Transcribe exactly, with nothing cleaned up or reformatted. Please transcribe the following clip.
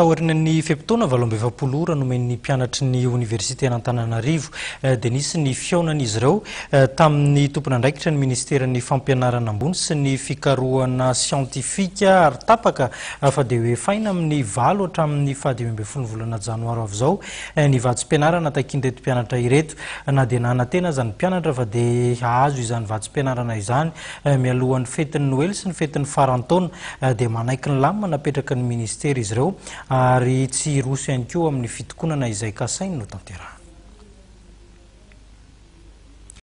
Taorian'ny fe-potoana valo amby efapolo ora nomen'ny mpianatry ny oniversite Antananarivo, dia nisy ny fihaonan'izy ireo tamin'ny tompon'andraikitra ny ministeran'ny Fampianarana ambony sy ny Fikarohana siantifika, ary tapaka fa dia hoefaina amin'ny valo hatramin'ny fahadimy ambin'ny folo volana janoary avy izao ny vatsim-pianarana takian'ireto mpianatra ireto. Na dia nanantena aza ny mpianatra fa dia hahazo izany vatsim-pianarana izany mialohan'ny fetin'ny Noely sy ny fetin'ny faran-taona, dia manaiky ny lamina napetraka ny ministera izy ireo, ary tsy hiroso ihany koa amin'ny fitokonana izay kasainy no tanterahana.